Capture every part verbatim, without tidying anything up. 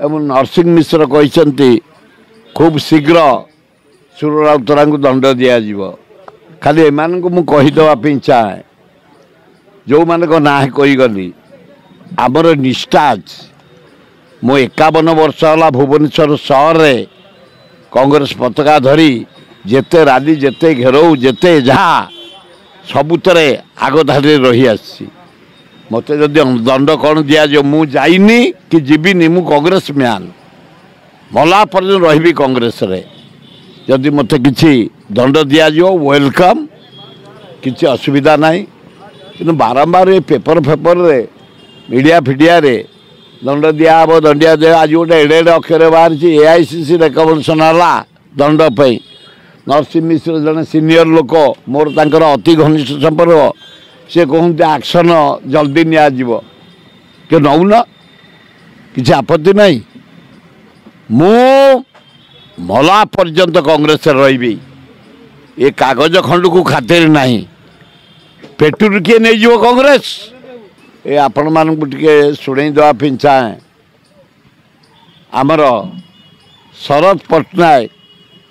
ଏବଂ ନରସିଂହ ମିଶ୍ର କହିଛନ୍ତି ଖୁବ୍ ଶୀଘ୍ର ସୁର ରାଉତରାଙ୍କୁ ଦଣ୍ଡ ଦିଆଯିବ। ଖାଲି ଏମାନଙ୍କୁ ମୁଁ କହିଦେବା ପାଇଁ ଚାହେଁ, ଯେଉଁମାନଙ୍କ ନାଁ କହିଗଲି, ଆମର ନିଷ୍ଠା ଅଛି। ମୁଁ ଏକାବନ ବର୍ଷ ହେଲା ଭୁବନେଶ୍ୱର ସହରରେ କଂଗ୍ରେସ ପତାକା ଧରି ଯେତେ ରାଲି, ଯେତେ ଘେରାଉ, ଯେତେ ଯାହା ସବୁଥିରେ ଆଗଧାଡ଼ିରେ ରହିଆସିଛି। ମୋତେ ଯଦି ଦଣ୍ଡ କ'ଣ ଦିଆଯିବ, ମୁଁ ଯାଇନି କି ଯିବିନି। ମୁଁ କଂଗ୍ରେସ ମ୍ୟାନ୍, ମଲା ପର୍ଯ୍ୟନ୍ତ ରହିବି କଂଗ୍ରେସରେ। ଯଦି ମୋତେ କିଛି ଦଣ୍ଡ ଦିଆଯିବ, welcome, କିଛି ଅସୁବିଧା ନାହିଁ। କିନ୍ତୁ ବାରମ୍ବାର ଏ ପେପର ଫେପରରେ, ମିଡ଼ିଆ ଫିଡ଼ିଆରେ ଦଣ୍ଡ ଦିଆହେବ, ଦଣ୍ଡିଆ ଦିଆ। ଆଜି ଗୋଟେ ଏଡ଼େ ଏଡ଼େ ଅକ୍ଷର ବାହାରିଛି, A I C C recommendation ହେଲା ଦଣ୍ଡ ପାଇଁ। ନରସିଂହ ମିଶ୍ର ଜଣେ ସିନିୟର ଲୋକ, ମୋର ତାଙ୍କର ଅତି ଘନିଷ୍ଠ ସମ୍ପର୍କ। ସେ କହୁଛନ୍ତି ଆକ୍ସନ୍ ଜଲ୍ଦି ନିଆଯିବ। କି ନେଉନ, କିଛି ଆପତ୍ତି ନାହିଁ। ମୁଁ ମଲା ପର୍ଯ୍ୟନ୍ତ କଂଗ୍ରେସରେ ରହିବି। ଏ କାଗଜ ଖଣ୍ଡକୁ ଖାତିର ନାହିଁ, ପେଟରୁ କିଏ ନେଇଯିବ କଂଗ୍ରେସ। ଏ ଆପଣମାନଙ୍କୁ ଟିକେ ଶୁଣେଇ ଦେବା ପାଇଁ ଚାହେଁ। ଆମର ଶରତ ପଟ୍ଟନାୟକ,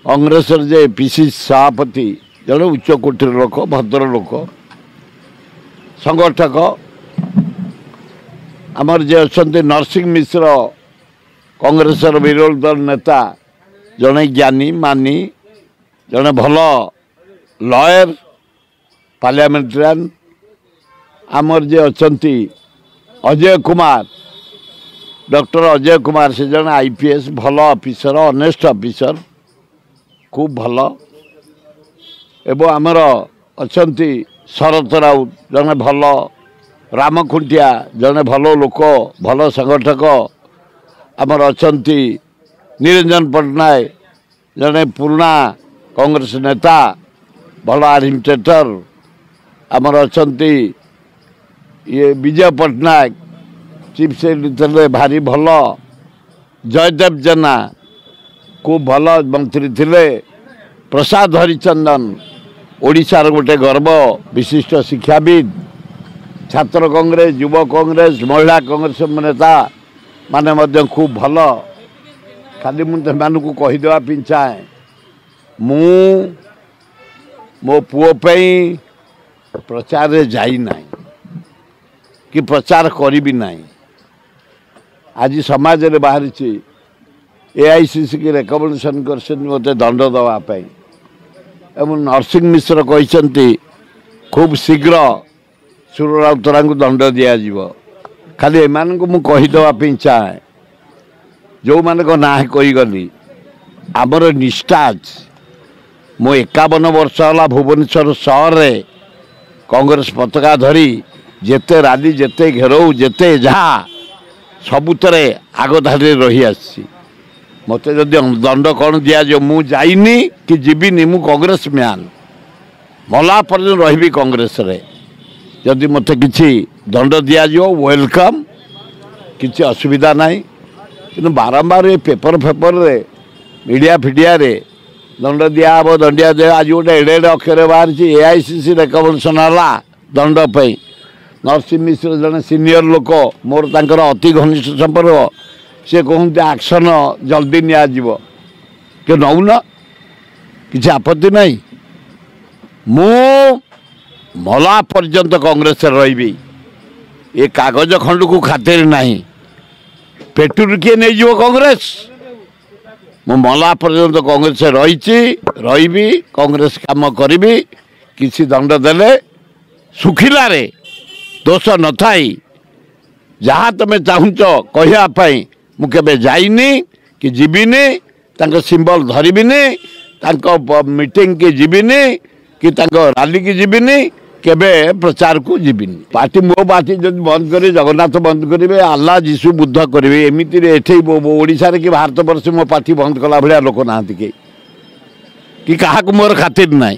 କଂଗ୍ରେସର ଯେ ପି ସି ସଭାପତି, ଜଣେ ଉଚ୍ଚ କୋଟିର ଲୋକ, ଭଦ୍ର ଲୋକ, ସଂଗଠକ। ଆମର ଯିଏ ଅଛନ୍ତି ନରସିଂହ ମିଶ୍ର, କଂଗ୍ରେସର ବିରୋଧୀ ଦଳ ନେତା, ଜଣେ ଜ୍ଞାନୀ ମାନି, ଜଣେ ଭଲ ଲୟର, ପାର୍ଲାମେଣ୍ଟାରିଆନ। ଆମର ଯିଏ ଅଛନ୍ତି ଅଜୟ କୁମାର, ଡକ୍ଟର ଅଜୟ କୁମାର, ସେ ଜଣେ I P S, ଭଲ ଅଫିସର, ଅନେଷ୍ଟ ଅଫିସର, ଖୁବ୍ ଭଲ। ଏବଂ ଆମର ଅଛନ୍ତି ଶରତ ରାଉତ, ଜଣେ ଭଲ, ରାମ ଖୁଣ୍ଟିଆ, ଜଣେ ଭଲ ଲୋକ, ଭଲ ସଂଗଠକ। ଆମର ଅଛନ୍ତି ନିରଞ୍ଜନ ପଟ୍ଟନାୟକ, ଜଣେ ପୁରୁଣା କଂଗ୍ରେସ ନେତା, ଭଲ ଆଡମିନିଷ୍ଟ୍ରେଟର। ଆମର ଅଛନ୍ତି ଇଏ ବିଜୟ ପଟ୍ଟନାୟକ, ଚିଫ୍ ସେକ୍ରେଟାରୀ ଥିଲେ, ଭାରି ଭଲ। ଜୟଦେବ ଜେନା ଖୁବ୍ ଭଲ ମନ୍ତ୍ରୀ ଥିଲେ। ପ୍ରସାଦ ହରିଚନ୍ଦନ, ଓଡ଼ିଶାର ଗୋଟେ ଗର୍ବ, ବିଶିଷ୍ଟ ଶିକ୍ଷାବିତ୍, ଛାତ୍ର କଂଗ୍ରେସ, ଯୁବ କଂଗ୍ରେସ, ମହିଳା କଂଗ୍ରେସ ନେତା ମାନେ ମଧ୍ୟ ଖୁବ୍ ଭଲ। ଖାଲି ମୁଁ ସେମାନଙ୍କୁ କହିଦେବା ପାଇଁ ଚାହେଁ, ମୁଁ ମୋ ପୁଅ ପାଇଁ ପ୍ରଚାରରେ ଯାଇନାହିଁ କି ପ୍ରଚାର କରିବି ନାହିଁ। ଆଜି ସମାଜରେ ବାହାରିଛି ଏ I C C କି ରେକମେଣ୍ଡେସନ୍ କରିଛନ୍ତି ମୋତେ ଦଣ୍ଡ ଦେବା ପାଇଁ, ଏବଂ ନରସିଂହ ମିଶ୍ର କହିଛନ୍ତି ଖୁବ୍ ଶୀଘ୍ର ସୁର ରାଉତରାଙ୍କୁ ଦଣ୍ଡ ଦିଆଯିବ। ଖାଲି ଏମାନଙ୍କୁ ମୁଁ କହିଦେବା ପାଇଁ ଚାହେଁ, ଯେଉଁମାନଙ୍କ ନାଁ କହିଗଲି, ଆମର ନିଷ୍ଠା ଅଛି। ମୁଁ ଏକାବନ ବର୍ଷ ହେଲା ଭୁବନେଶ୍ୱର ସହରରେ କଂଗ୍ରେସ ପତାକା ଧରି ଯେତେ ରାଲି, ଯେତେ ଘେରାଉ, ଯେତେ ଯାହା ସବୁଥିରେ ଆଗଧାଡ଼ିରେ ରହିଆସିଛି। ମୋତେ ଯଦି ଦଣ୍ଡ କ'ଣ ଦିଆଯିବ, ମୁଁ ଯାଇନି କି ଯିବିନି। ମୁଁ କଂଗ୍ରେସ ମ୍ୟାନ୍, ମଲା ପର୍ଯ୍ୟନ୍ତ ରହିବି କଂଗ୍ରେସରେ। ଯଦି ମୋତେ କିଛି ଦଣ୍ଡ ଦିଆଯିବ, welcome, କିଛି ଅସୁବିଧା ନାହିଁ। କିନ୍ତୁ ବାରମ୍ବାର ଏ ପେପର ଫେପରରେ, ମିଡ଼ିଆ ଫିଡ଼ିଆରେ ଦଣ୍ଡ ଦିଆହେବ, ଦଣ୍ଡିଆ ଦିଆ। ଆଜି ଗୋଟେ ଏଡ଼େ ଏଡ଼େ ଅକ୍ଷର ବାହାରିଛି, ଏ I C C recommendation ହେଲା ଦଣ୍ଡ ପାଇଁ। ନରସିଂହ ମିଶ୍ର ଜଣେ ସିନିୟର ଲୋକ, ମୋର ତାଙ୍କର ଅତି ଘନିଷ୍ଠ ସମ୍ପର୍କ। ସେ କହୁଛନ୍ତି ଆକ୍ସନ୍ ଜଲ୍ଦି ନିଆଯିବ। କି ନେଉନ, କିଛି ଆପତ୍ତି ନାହିଁ। ମୁଁ ମଲା ପର୍ଯ୍ୟନ୍ତ କଂଗ୍ରେସରେ ରହିବି। ଏ କାଗଜ ଖଣ୍ଡକୁ ଖାତିର ନାହିଁ, ପେଟରୁ କିଏ ନେଇଯିବ କଂଗ୍ରେସ। ମୁଁ ମଲା ପର୍ଯ୍ୟନ୍ତ କଂଗ୍ରେସରେ ରହିଛି, ରହିବି, କଂଗ୍ରେସ କାମ କରିବି। କିଛି ଦଣ୍ଡ ଦେଲେ, ଶୁଖିଲାରେ ଦୋଷ ନଥାଇ ଯାହା ତୁମେ ଚାହୁଁଛ କହିବା ପାଇଁ, ମୁଁ କେବେ ଯାଇନି କି ଯିବିନି, ତାଙ୍କ ସିମ୍ବଲ ଧରିବିନି, ତାଙ୍କ ମିଟିଂକି ଯିବିନି କି ତାଙ୍କ ରାଲିକି ଯିବିନି, କେବେ ପ୍ରଚାରକୁ ଯିବିନି। ପାର୍ଟି, ମୋ ପାର୍ଟି ଯଦି ବନ୍ଦ କରିବେ, ଜଗନ୍ନାଥ ବନ୍ଦ କରିବେ, ଆଲ୍ଲା, ଯୀଶୁ, ବୁଦ୍ଧ କରିବେ। ଏମିତିରେ ଏଠି ଓଡ଼ିଶାରେ କି ଭାରତବର୍ଷ ମୋ ପାର୍ଟି ବନ୍ଦ କଲା ଭଳିଆ ଲୋକ ନାହାନ୍ତି କେହି, କି କାହାକୁ ମୋର ଖାତିର ନାହିଁ।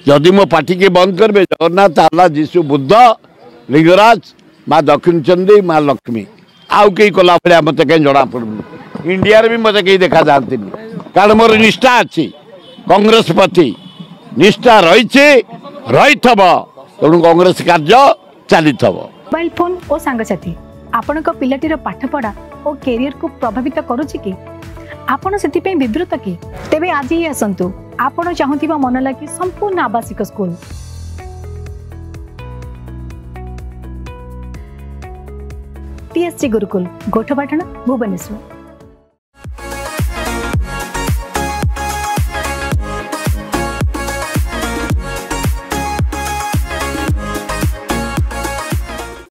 ଯଦି ମୋ ପାର୍ଟିକି ବନ୍ଦ କରିବେ, ଜଗନ୍ନାଥ, ଆଲ୍ଲା, ଯୀଶୁ, ବୁଦ୍ଧ, ଲିଙ୍ଗରାଜ, ମା ଦକ୍ଷିଣଚଣ୍ଡୀ, ମା ଲକ୍ଷ୍ମୀ, ଆଉ କେହି କଲା ଭଳିଆ ମୋତେ କାହିଁ ଜଣାପଡ଼ୁନି। ଇଣ୍ଡିଆରେ ବି ମୋତେ କେହି ଦେଖାଯାଆନ୍ତିନି, କାରଣ ମୋର ନିଷ୍ଠା ଅଛି କଂଗ୍ରେସ ପ୍ରତି, ନିଷ୍ଠା ରହିଛି, ରହିଥିବ। ତେଣୁ କଂଗ୍ରେସ କାର୍ଯ୍ୟ ଚାଲିଥିବ। ମୋବାଇଲ ଫୋନ୍ ଓ ସାଙ୍ଗସାଥି ଆପଣଙ୍କ ପିଲାଟିର ପାଠପଢ଼ା ଓ କ୍ୟାରିୟରକୁ ପ୍ରଭାବିତ କରୁଛି କି? ଆପଣ ସେଥିପାଇଁ ବିବ୍ରତ କି? ତେବେ ଆଜି ହିଁ ଆସନ୍ତୁ ଆପଣ ଚାହୁଁଥିବା ମନ ଲାଗି ସମ୍ପୂର୍ଣ୍ଣ ଆବାସିକ ସ୍କୁଲ, ଟିଏସଜି ଗୁରୁକୁଲ, ଗୋଠପାଟଣା, ଭୁବନେଶ୍ୱର।